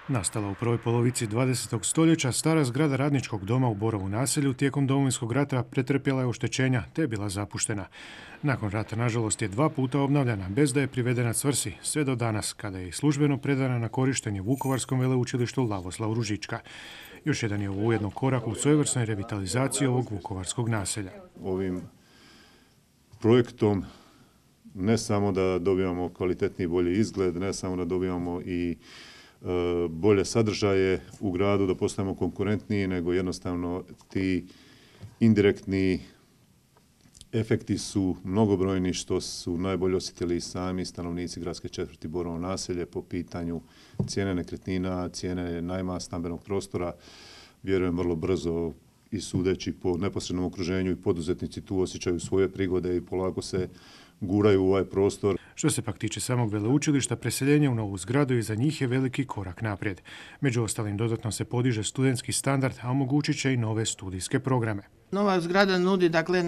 Nastala u prvoj polovici 20. stoljeća, stara zgrada radničkog doma u Borovu naselju tijekom Domovinskog rata pretrpjela je oštećenja te je bila zapuštena. Nakon rata, nažalost, je 2 puta obnavljana bez da je privedena svrsi, sve do danas, kada je službeno predana na korištenje Vukovarskom veleučilištu Lavoslav Ružička. Još jedan je ovo ujedno korak u svojevrsnoj revitalizaciji ovog vukovarskog naselja. Ovim projektom ne samo da dobivamo kvalitetni i bolji izgled, ne samo da dobivamo i bolje sadržaje u gradu, da postajemo konkurentniji, nego jednostavno ti indirektni efekti su mnogobrojni, što su najbolje osjetili sami stanovnici gradske četvrti Borovo naselje po pitanju cijene nekretnina, cijene najma stambenog prostora. Vjerujem vrlo brzo i sudeći po neposrednom okruženju i poduzetnici tu osjećaju svoje prigode i polako se guraju u ovaj prostor. Što se pak tiče samog veleučilišta, preseljenje u novu zgradu i za njih je veliki korak naprijed. Među ostalim, dodatno se podiže studentski standard, a omogućit će i nove studijske programe. Nova zgrada nudi dakle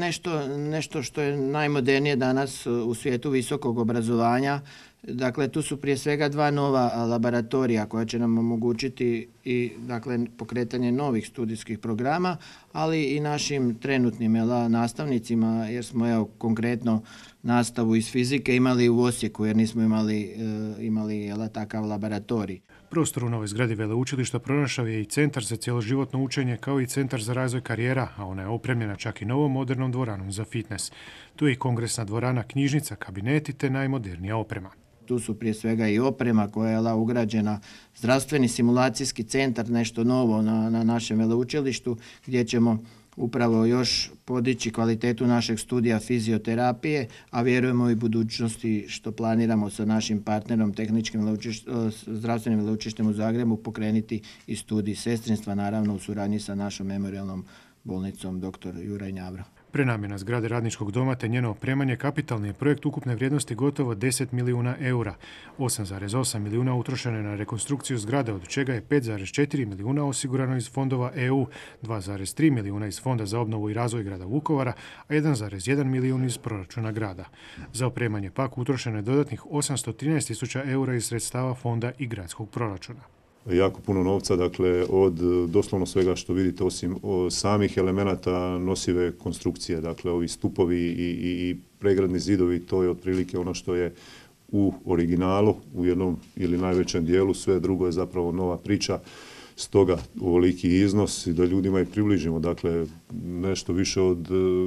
nešto što je najmodernije danas u svijetu visokog obrazovanja. Dakle, tu su prije svega 2 nova laboratorija koja će nam omogućiti i dakle pokretanje novih studijskih programa, ali i našim trenutnim nastavnicima, jer smo konkretno nastavu iz fizike imali u Osijeku, jer nismo imali takav laboratorij. Prostor u novoj zgradi veleučilišta pronašao je i centar za cjeloživotno učenje, kao i centar za razvoj karijera, a ona je opremljena čak i novom modernom dvoranom za fitness. Tu je i kongresna dvorana, knjižnica, kabineti te najmodernija oprema. Tu su prije svega i oprema koja je ugrađena, zdravstveni simulacijski centar, nešto novo na našem veleučilištu, gdje ćemo upravo još podići kvalitetu našeg studija fizioterapije, a vjerujemo i budućnosti što planiramo sa našim partnerom tehničkim zdravstvenim veleučilištem u Zagrebu pokrenuti i studij sestrinstva, naravno u suradnji sa našom memorijalnom bolnicom dr. Juraj Njavro. Prenamjena zgrade radničkog doma te njeno opremanje kapitalni je projekt ukupne vrijednosti gotovo 10 milijuna eura. 8,8 milijuna utrošeno je na rekonstrukciju zgrade, od čega je 5,4 milijuna osigurano iz fondova EU, 2,3 milijuna iz Fonda za obnovu i razvoj grada Vukovara, a 1,1 milijun iz proračuna grada. Za opremanje pak utrošeno je dodatnih 813.000 eura iz sredstava fonda i gradskog proračuna. Jako puno novca, dakle od doslovno svega što vidite, osim samih elemenata nosive konstrukcije, dakle ovi stupovi i pregradni zidovi, to je otprilike ono što je u originalu, u jednom ili najvećem dijelu, sve drugo je zapravo nova priča. Stoga ovoliki iznos i da ljudima i približimo, dakle nešto više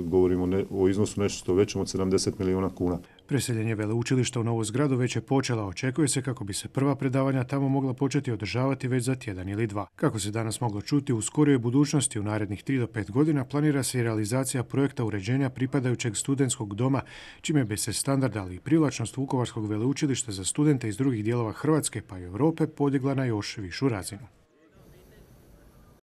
govorimo o iznosu nešto većem od 70 milijuna kuna. Preseljenje veleučilišta u novu zgradu već je počela, očekuje se kako bi se prva predavanja tamo mogla početi održavati već za tjedan ili 2. Kako se danas moglo čuti, u skorijoj budućnosti u narednih 3 do 5 godina planira se i realizacija projekta uređenja pripadajućeg studentskog doma, čime bi se standard, ali i privlačnost Vukovarskog veleučilišta za studente iz drugih dijelova Hrvatske pa i Europe podigla na još višu razinu.